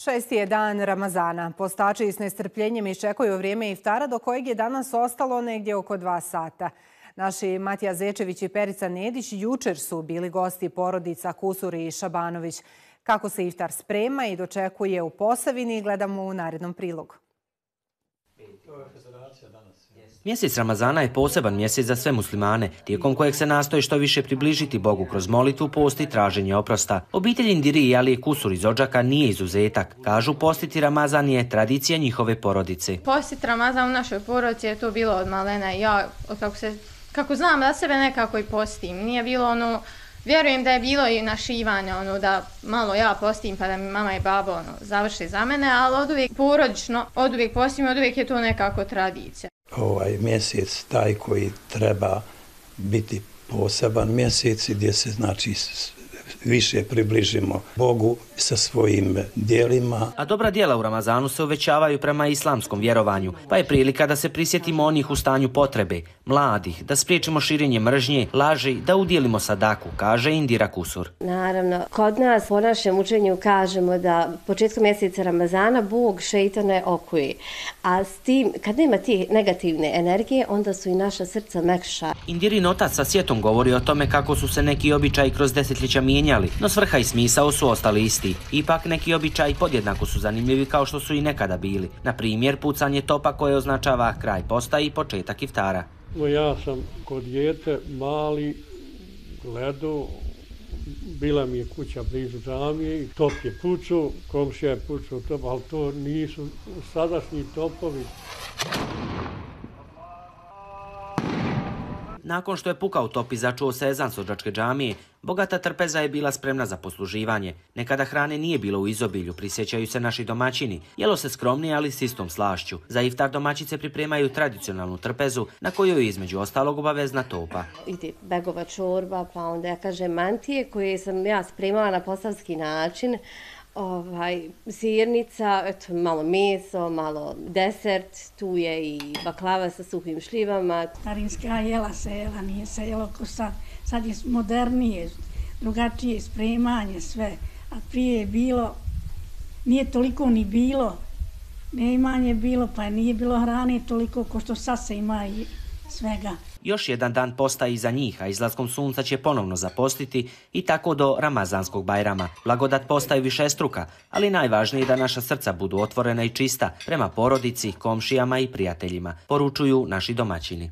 Šesti je dan Ramazana. Postači s nestrpljenjem iščekuju vrijeme iftara do kojeg je danas ostalo negdje oko 2 sata. Naši Matija Zečević i Perica Nedić jučer su bili gosti porodica Kusuri i Šabanović. Kako se iftar sprema i dočekuje u Posavini gledamo u narednom prilogu. Mjesec Ramazana je poseban mjesec za sve muslimane, tijekom kojeg se nastoji što više približiti Bogu kroz molitvu, post i traženje oprosta. Obitelj Indiri i Alije Kusur iz Odžaka nije izuzetak. Kažu, postiti Ramazan je tradicija njihove porodice. Postiti Ramazan u našoj porodici je to bilo od malena. Ja, kako znam da sebe nekako i postim. Nije bilo vjerujem da je bilo i našivanja, da malo ja postim pa da mi mama i babo završe za mene, ali od uvijek porodično, od uvijek postim, od uvijek je to nekako tradicija. Ovaj mjesec taj koji treba biti poseban mjesec gdje se više približimo Bogu sa svojim djelima. A dobra djela u Ramazanu se uvećavaju prema islamskom vjerovanju, pa je prilika da se prisjetimo onih u stanju potrebe, mladih, da spriječimo širenje mržnje, laži, da udjelimo sadaku, kaže Indira Kusur. Naravno, kod nas po našem učenju kažemo da početkom mjeseca Ramazana Bog šeitane okuje, a s tim, kad nema tih negativne energije, onda su i naša srca mekša. Indirin otac sa sjetom govori o tome kako su se neki običaji kroz desetljeća mijenjali, no svrha i smisao su ostali isti. Ipak neki običaji podjednako su zanimljivi kao što su i nekada bili. Na primjer, pucanje topa koje označava kraj posta i početak iftara. Ja sam kod dijete mali gledao, bila mi je kuća blizu džamije, top je pucao, komšija je pucao top, ali to nisu sadašnji topovi. Nakon što je pukao top i začuo se ezan s Odžačke džamije, bogata trpeza je bila spremna za posluživanje. Nekada hrane nije bilo u izobilju, prisjećaju se naši domaćini. Jelo se skromnije, ali s istom slašću. Za iftar domaćice pripremaju tradicionalnu trpezu, na kojoj je između ostalog obavezna topa. Ide begova čorba, pa onda mantije koje sam ja spremala na posavski način. Sirnica, malo meso, malo desert, tu je i baklava sa suhim šljivama. Starinska jela se jela, nije se jelo ko sad. Sad je modernije, drugačije spremanje, sve. A prije je bilo, nije toliko ni bilo, neimanje bilo, pa nije bilo hrane toliko ko što sad se ima i svega. Još jedan dan posta iza njih, a izlaskom sunca će ponovno zapostiti i tako do Ramazanskog Bajrama. Blagodat posta je višestruka, ali najvažnije je da naša srca budu otvorena i čista prema porodici, komšijama i prijateljima, poručuju naši domaćini.